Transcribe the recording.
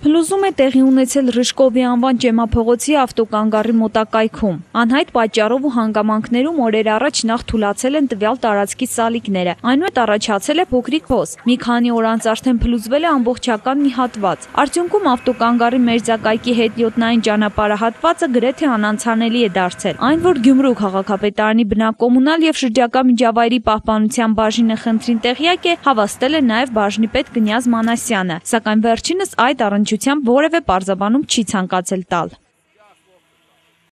Փլուզում է տեղի ունեցել Ռիժկովի անվան ճեմափողոցի ավտոկանգառի մոտակայքում։ Անհայտ պատճառով ու հանգամանքներում օրեր առաջ նախ թուլացել են տվյալ տարածքի սալիկները։ Այնուհետ առաջացել է փոքրիկ հոս։ Մի քանի օր անց արդեն փլուզվել է ամբողջական մի հատված։ Արդյունքում ավտոկանգառի մերձակայքի հետիոտնային ճանապարհահատվածը գրեթե անանցանելի է դարձել։ Այն, որ Գյումրու քաղաքապետարանի բնակկոմունալ եւ շրջակա միջավայրի պահպանության բաժինը խնդրին տեղյակ է, հավաստել է նաեւ բաժնի պետ Կնյազ Մանասյանը, սակայն վերջինս այդ առնչությամբ որևէ պարզաբանում չի ցանկացել տալ։